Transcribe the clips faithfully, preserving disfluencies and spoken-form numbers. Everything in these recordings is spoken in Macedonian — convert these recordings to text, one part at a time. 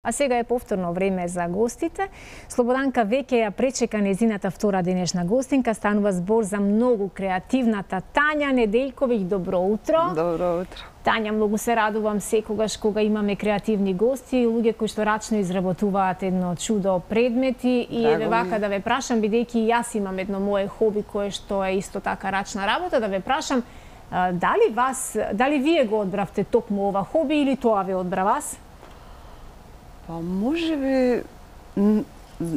А сега е повторно време за гостите. Слободанка веќе ја пречека незината втора денешна гостинка. Станува збор за многу креативната Тања Неделковиќ. Добро утро. Добро утро. Тања, многу се радувам секогаш кога имаме креативни гости, луѓе кои што рачно изработуваат едно чудо предмети. И еве вака да ве прашам, бидејќи јас имам едно мое хоби кое што е исто така рачна работа, да ве прашам дали вас, дали вие го одбравте токму ова хоби или тоа ве одбра вас? Па може би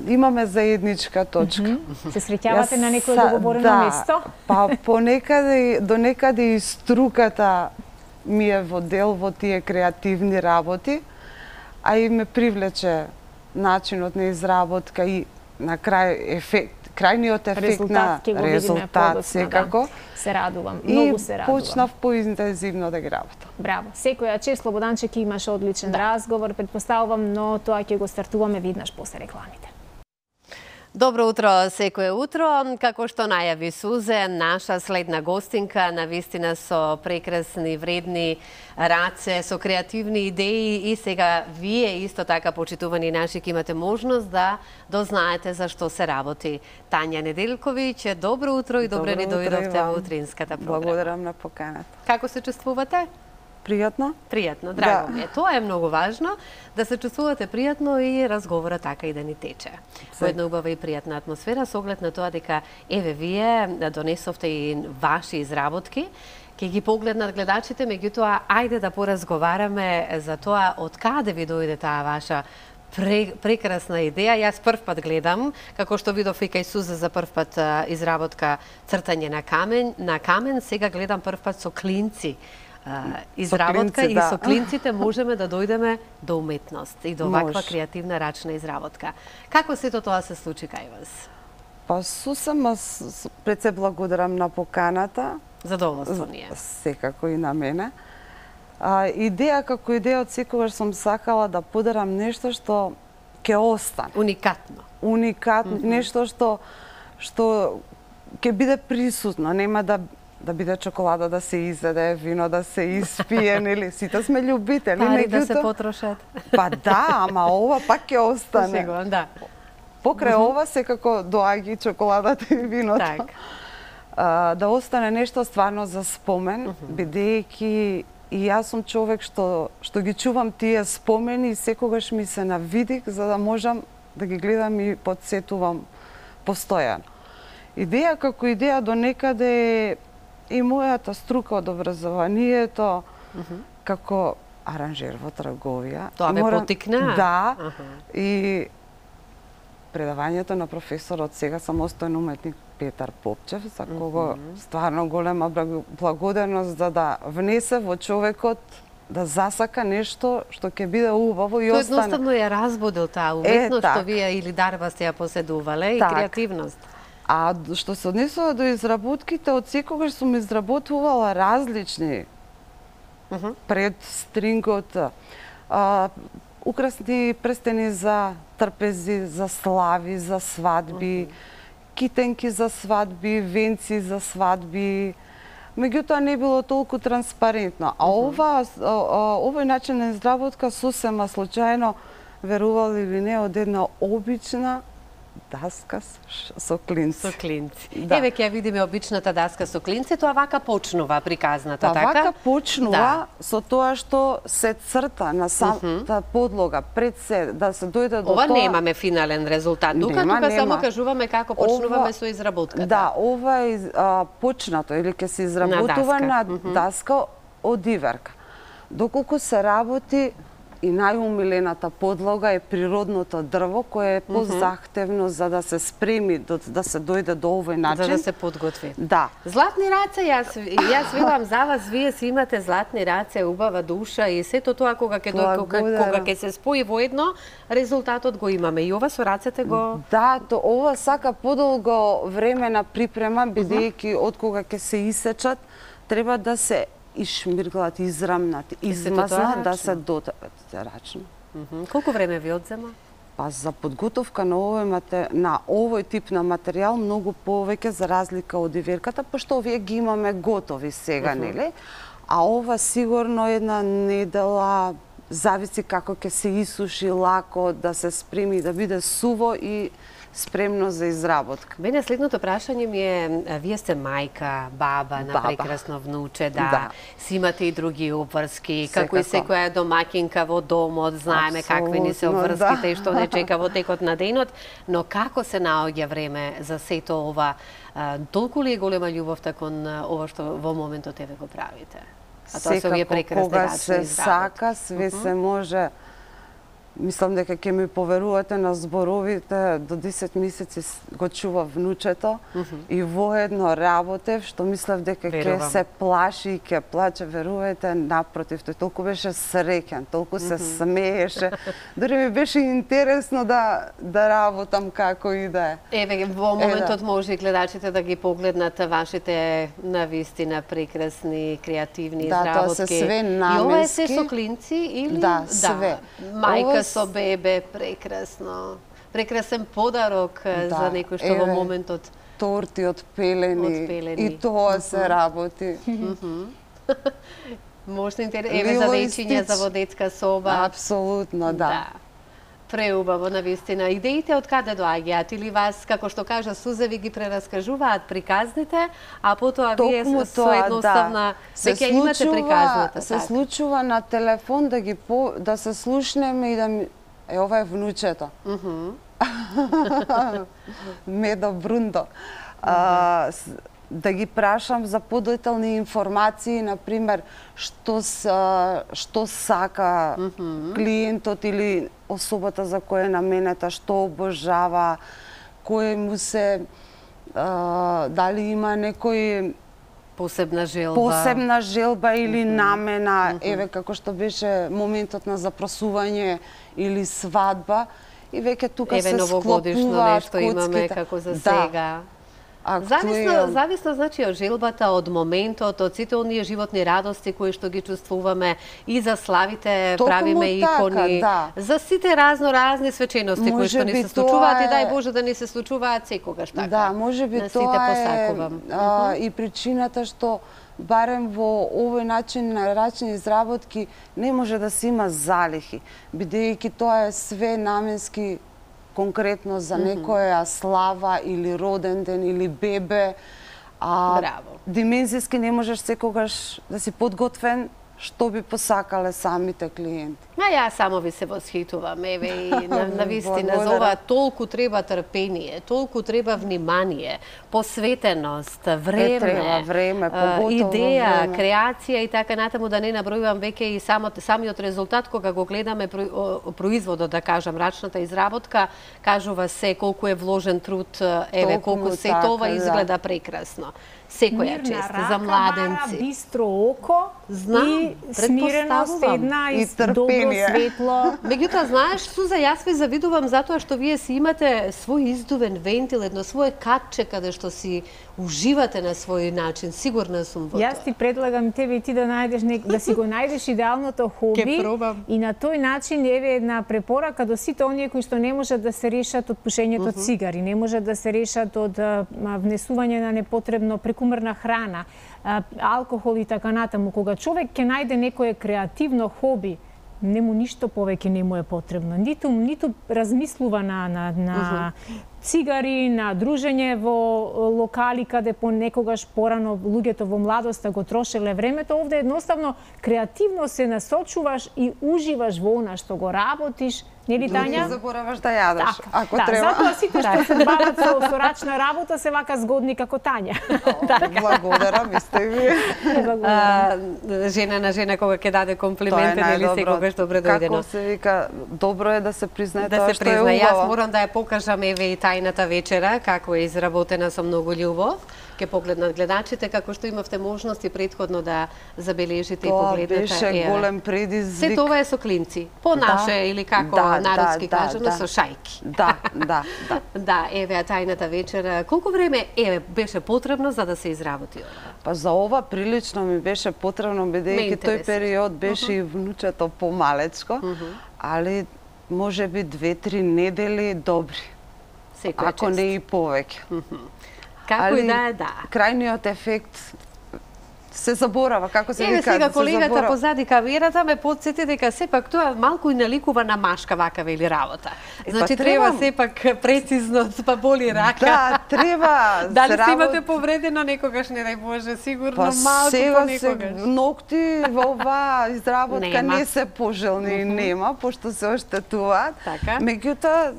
имаме заедничка точка. Mm -hmm. Се среќавате на некој договорено да, место? Па понекаде, до некаде и струката ми е во дел во тие креативни работи, а и ме привлече начинот на изработка и на крај ефект, крајниот ефект резултат, на резултат секако. Да. Се радувам, многу се радувам. И почнав поинтензивно да ги работам. Браво. Секоја чест, Слободанче, ќе имаш одличен да. разговор, предпоставувам, но тоа ќе го стартуваме виднаш после рекламите. Добро утро секое утро. Како што најави Сузе, наша следна гостинка навистина со прекрасни, вредни раце, со креативни идеи и сега вие исто така почитувани наши ќе имате можност да дознаете за што се работи. Тања Неделковиќ, добро утро и добре ни дојдовте во утринската програма. Благодарам на поканата. Како се чувствувате? Пријатно? Пријатно, драго да. ми е. Тоа е многу важно, да се чувствувате пријатно и разговорот така и да ни тече. Во една убава и пријатна атмосфера, со оглед на тоа дека, еве, вие донесовте и ваши изработки, ќе ги погледнат гледачите, меѓутоа, ајде да поразговараме за тоа од каде ви дојде таа ваша прекрасна идеја. Јас прв пат гледам, како што видов и кај Суза за прв пат изработка цртање на камен, на камен, сега гледам прв пат со клинци. Uh, изработка клинци, и да. со клинците можеме да дојдеме до уметност и до ваква Мож. креативна рачна изработка. Како сето тоа се случи кај вас? Па сусема пред се благодарам на поканата. Задоволство ни е. Секако и на мене. А, идеја како идеја од секогаш сум сакала да подарам нешто што ќе остане. Уникатно. Уникатно, mm -hmm. нешто што што ќе биде присутно, нема да да биде чоколада да се изеде, вино да се испие, нели? Сите сме љубители, пари да се потрошат. Па да, ама ова пак ќе остане. Сигурно, да. Покрај mm -hmm. ова секако доаѓа чоколадата и виното. Так. А, да остане нешто стварно за спомен, mm -hmm. бидејќи и јас сум човек што што ги чувам тие спомени и секогаш ми се навидих за да можам да ги гледам и подсетувам постојано. Идеја како идеја до некаде и мојата струка од образованието, uh -huh. како аранжер во трговија. Тоа ве потикна? Да. Uh -huh. И предавањето на професорот сега самостоен уметник Петар Попчев, за кого uh -huh. стварно голема благодарност за да внесе во човекот да засака нешто што ќе биде убаво и Тој остане. Тој едноставно ја разбудил таа уметност е, што вие или дарба сте ја поседувале и так. креативност. А што се однесува до изработките, од секогаш сум изработувала различни uh -huh. пред стрингот, а, украсни прстени за трпези, за слави, за свадби, uh -huh. китенки за свадби, венци за свадби. Меѓутоа не било толку транспарентно. А uh -huh. ова, овој начин на изработка сосема случајно, верували или не, од една обична даска со клинци. Со клинци. Да. Еве ќе видиме обичната даска со клинци, тоа вака почнува приказната, па, така? Вака почнува да. со тоа што се црта на самата uh -huh. подлога пред се, да се дојде до ова тоа. Ова немаме финален резултат. Тука, нема, тука нема. само кажуваме како почнуваме ова, со изработката. Да, ова е а, почнато или ќе се изработува на даска, на uh -huh. даска од иверка. Доколку се работи и најумилената подлога е природното дрво, кое е позахтевно за да се спреми, да се дојде до овој начин. За да се подготви. Да. Златни раце, јас, јас велам за вас, вие си имате златни раце, убава душа и сето тоа кога ќе дојде, кога, кога ќе се спои во едно, резултатот го имаме. И ова со рацете го... Да, то ова сака подолго време на припрема, бидејќи од кога ќе се исечат, треба да се ишмирглат, израмнат, измазнат, да се дотрат рачно. Mm -hmm. Колку време ви одзема? Па за подготовка на овој мате... на овој тип на материјал многу повеќе за разлика од иверката, пошто овие ги имаме готови сега, mm -hmm. нели? А ова сигурно една недела зависи како ќе се исуши лако, да се спреми, да биде суво и спремно за изработка. Мене следното прашање ми е, вие сте мајка, баба на Баба. прекрасно внуче, да, Да. си имате и други обврски, Секако. како и секоја домакинка во домот, знаеме какви ни се Апсолутно, обврските да. и што не чека во текот на денот, но како се наоѓа време за сето ова? А, толку ли е голема љубовта кон а, ова што во моментот еве го правите? А тоа се овие Секако, прекрасни кога рачни се изработки. сака, све се може. Мислам дека ќе ми поверувате на зборовите, до десет месеци с- го чува внучето и воедно работев, што мислев дека ќе Верувам. се плаши и ќе плаче, верувајте, напротив, тој толку беше среќен, толку се смееше. Дори ми беше интересно да да работам како и да е. Еве, во моментот може и гледачите да ги погледнат вашите навистина прекрасни, креативни Да, тоа изработки. се све И ова е се наменски. со клинци или? Да, све. Мајка Ова со бебе, прекрасно. Прекрасен подарок е, Да, за некој што во еве. моментот Торти од пелени, Од пелени. и тоа се работи. можна интересно, еве за Лило и дечиња, за Стич. во детска соба. Апсолутно, да. Преубаво, навистина. Идеите од каде доаѓаат? Или вас, како што кажа Суза, ви ги прераскажуваат приказните, а потоа вие Токму со тоа, едноставна да. веќе имате приказната. Се така. случува на телефон да ги по, да се слушнеме и да ми е ова е внучето. Мгм. Медо Брундо. А, с- да ги прашам за подетални информации, на пример, што са, што сака клиентот или особата за која е наменета, што обожава, кој му се а, дали има некој Посебна желба. посебна желба или намена, еве како што беше моментот на запросување или свадба, и веќе тука Еве се новогодишно склопуваат нешто имаме коцките. како за Да. сега. Зависно, Актуелно. зависно значи од желбата, од моментот, од сите оние животни радости кои што ги чувствуваме и за славите Токму правиме така, икони, да. за сите разно разни свечености кои Може што ни би се случуваат тоа и дај е- Боже да ни се случуваат секогаш така. Да, може би На сите тоа е посакувам. а, и причината што барем во овој начин на рачни изработки не може да се има залихи, бидејќи тоа е све наменски конкретно за некоја слава или роден ден или бебе. А Браво. димензиски не можеш секогаш да си подготвен што би посакале самите клиенти. А ја само ви се восхитувам, еве и на, на вистина за Благодарам. ова толку треба трпение, толку треба внимание, посветеност, време, треба време, а, поготово идеја, време. креација и така натаму, да не набројувам веќе и самот, самиот резултат кога го гледаме про- о- производот, да кажам, рачната изработка, кажува се колку е вложен труд, еве Толку колку му се така, това да. изгледа прекрасно. Секоја Мирна чест рака за бара, младенци. бистро око Знам, и смиреност претпоставувам. една И и добро трпение. светло. Меѓутоа, знаеш, Суза, јас ви завидувам затоа што вие си имате свој издувен вентил, едно свое катче каде што си уживате на свој начин. Сигурна сум во Јас тоа. ти предлагам тебе и ти да најдеш нек... да си го најдеш идеалното хоби. Ќе пробам. И на тој начин еве една препорака до сите оние кои што не можат да се решат од пушењето од цигари, не можат да се решат од а, внесување на непотребно прекумерна храна, а, алкохол и така натаму. Кога човек ќе најде некое креативно хоби, нему ништо повеќе не му е потребно. Ниту ниту размислува на на на цигари, на дружење во локали каде понекогаш порано луѓето во младоста го трошеле времето. Овде едноставно креативно се насочуваш и уживаш во она што го работиш. Нели, Не Тања? забораваш да јадеш, Така, ако да, треба. затоа сите што се бават со, со рачна работа се вака згодни како Тања. Благодарам, исто и вие. А, жена на жена кога ќе даде комплименти, нели секогаш добро дојдено. Како се вика, добро е да се признае Да тоа се што е призна, јас убаво. морам да ја покажам еве и тајната вечера, како е изработена со многу љубов. Ке погледнат гледачите, како што имавте можности претходно да забележите и Тоа погледнете. беше Еве. голем предизвик. Се тоа е со клинци. По Да. наше или како Да, народски да, кажано, да. со шајки. Да, да, да. Да, еве а тајната вечера. Колку време еве беше потребно за да се изработи ова? Па за ова прилично ми беше потребно, Ме бидејќи тој интересира. период беше и внучето помалечко, али може би две-три недели добри, Секоја ако чест. не и повеќе. Како Али и да е, да. крајниот ефект се заборава, како се Еве вика, сега се колегата заборава. позади камерата ме потсети дека сепак тоа малку и наликува на машка вака вели работа. Значи па треба треба- сепак прецизно, па боли рака. Да, треба. Дали се се имате работи. повредено некогаш, не дај Боже, сигурно Па малку сега се понекогаш. ногти во оваа изработка Нема. не се пожелни и нема, пошто се оштетуваат. Така. Меѓутоа,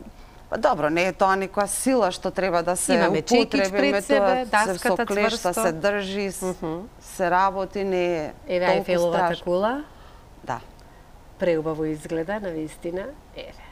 па добро, не е тоа некоја сила што треба да се Имаме чекич употреби, пред метоа себе, се даската со клешта цврсто. се држи, с- се работи, не е Еве толку Ајфеловата страшно. кула, Да. преубаво изгледа, навистина. Еве.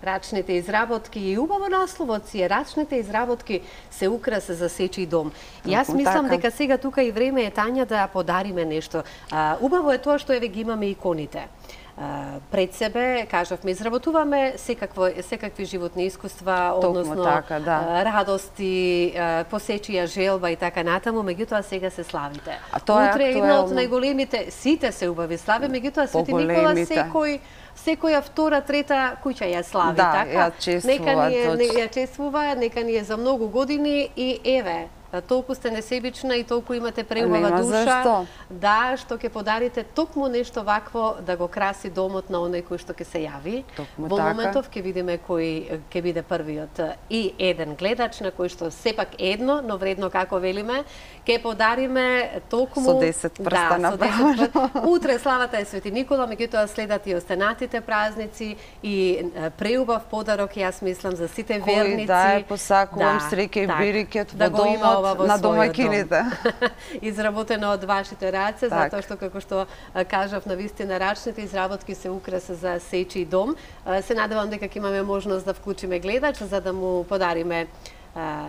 Рачните изработки и убаво насловот си е рачните изработки се украс за сечи дом. И јас Токму мислам така. дека сега тука и време е, Тања, да подариме нешто. А, убаво е тоа што еве ги имаме иконите. А, пред себе, кажавме, изработуваме секакво, секакви животни искуства, Токму односно така, да. а, радости, а, посечија желба и така натаму, меѓутоа сега се славите. А тоа е Утре е една од актуелно. најголемите, сите се убави слави, меѓутоа Свети Никола Поголемите. секој секоја втора, трета куќа ја слави, Да, така? ја чествува, Нека ни е, не, точно. ја чествува, нека ни е за многу години и еве, толку сте несебична и толку имате преубава Нема душа, зашто. да, што ќе подарите токму нешто вакво да го краси домот на оној кој што ќе се јави. Токму Во така. моментов ќе видиме кој ќе биде првиот и еден гледач на кој што сепак едно, но вредно како велиме, ќе подариме токму Со десет прста да, со десет направено. прста. Утре славата е Свети Никола, меѓутоа следат и останатите празници и е, преубав подарок, јас мислам, за сите Кој верници. да е посакувам Да, среќа и так, берекет да во го има ова домот во на својот домаќините. дом. Изработено од вашите раце, Так. затоа што, како што а, кажав, на вистина рачните изработки се украса за сечи дом. А, Се надевам дека ќе имаме можност да вклучиме гледач, за да му подариме а,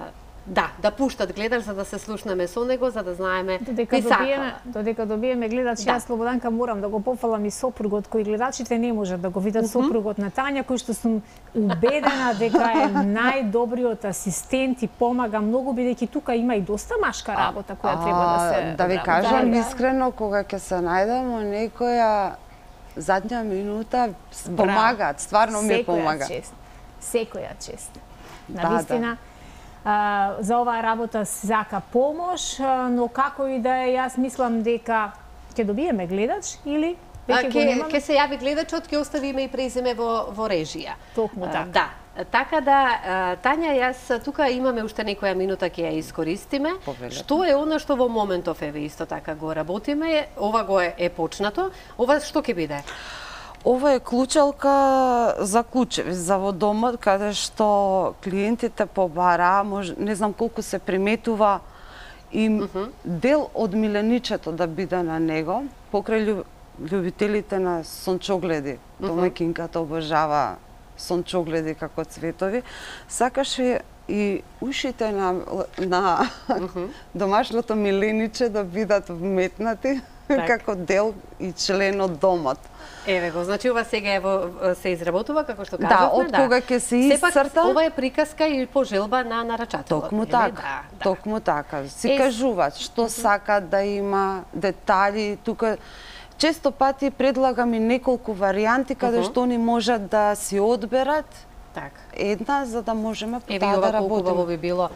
да, да пуштат гледач, за да се слушнеме со него, за да знаеме Додека кој добиеме, сакава. додека добиеме гледач, Да. јас Слободанка морам да го пофалам и сопругот кој гледачите не можат да го видат, сопругот на Тања, кој што сум убедена дека е најдобриот асистент и помага многу, бидејќи тука има и доста машка работа која треба да се Да ви одработи. кажам Да, да. искрено, кога ќе се најдемо некоја задња минута, с- помагаат, стварно ми Секоја помага. чест. Секоја чест. Да, На вистина, а, за оваа работа се сака помош, а, но како и да е, јас мислам дека ќе добиеме гледач или А, веќе го Ке, немаме. ке се јави гледачот, ќе остави име и презиме во, во режија. Токму А, така. Да. Така да, а, Тања, јас тука имаме уште некоја минута, ќе ја искористиме. Повелете. Што е она што во моментов еве исто така го работиме? Ова го е, е почнато. Ова што ќе биде? Ова е клучалка за клучеви за во домот, каде што клиентите побара, може, не знам колку се приметува и дел од миленичето да биде на него, покрај љуб, љубителите на сончогледи. Домаќинката обожава сончогледи како цветови. Сакаше и ушите на, на домашното милениче да бидат вметнати Так. како дел и член од домот. Еве го, значи ова сега е во, се изработува, како што Да, кажавме. од кога ќе се Сепак, исцрта. ова е приказка и пожелба на нарачателот. Токму нели? така, Да, да. токму така. Си Е, кажуваат што сакаат да има, детали, тука често пати предлагам и неколку варијанти каде Мгм. што они можат да си одберат Така. една за да можеме по Еве таа и да ова колку убаво работиме. би било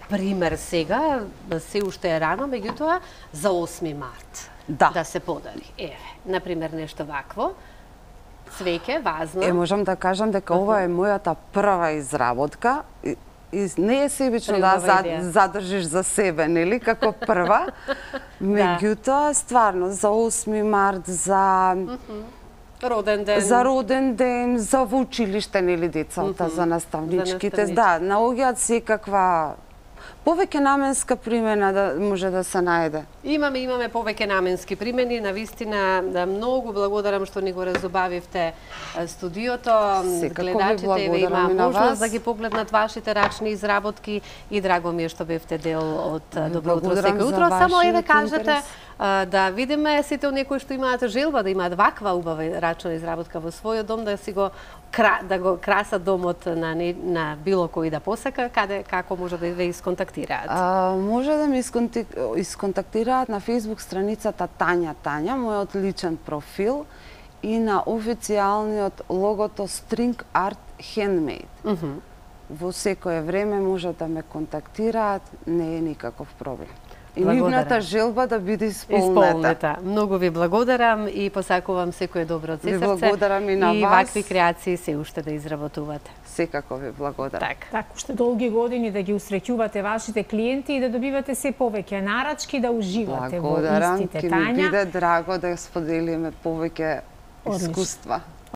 пример сега, се уште е рано, меѓутоа за осми март Да. да се подари. Еве, например нешто вакво. Цвеќе, вазно. Е, можам да кажам дека ова е мојата прва изработка. И, и не е себично да Преубава зад, идеја. задржиш за себе, нели, како прва. Меѓутоа, стварно, за осми март, за Роден ден. За роден ден, за во училиште, нели, децата, за наставничките, За да, наоѓаат секаква повеќе наменска примена да може да се најде. Имаме, имаме повеќе наменски примени, на вистина да, многу благодарам што ни го разубавивте е, студиото. Секако ви Гледачите еве има благодарам и на можност вас. да ги погледнат вашите рачни изработки и драго ми е што бевте дел од е, Добро утро благодарам секој за утро. Само еве вашиот кажете интерес. а, да видиме сите оние кои што имаат желба да имаат ваква убава рачна изработка во својот дом, да си го кра, да го красат домот на не, на било кој да посака, каде како може да ве исконтактираат. А, може да ме исконти- исконтактираат на Facebook страницата Тања Тања, мојот личен профил, и на официјалниот логото String Art Handmade. Мгм. Во секое време може да ме контактираат, не е никаков проблем. И нивната желба да биде исполнета. Исполнета. Многу ви благодарам и посакувам секое добро од се срце. Ви благодарам и на и вас. И вакви креации се уште да изработувате. Секако ви благодарам. Так. Так, уште долги години да ги усреќувате вашите клиенти и да добивате се повеќе нарачки, да уживате благодарам, во истите, Тања. Благодарам, ќе ми Тања. биде драго да споделиме повеќе искуства.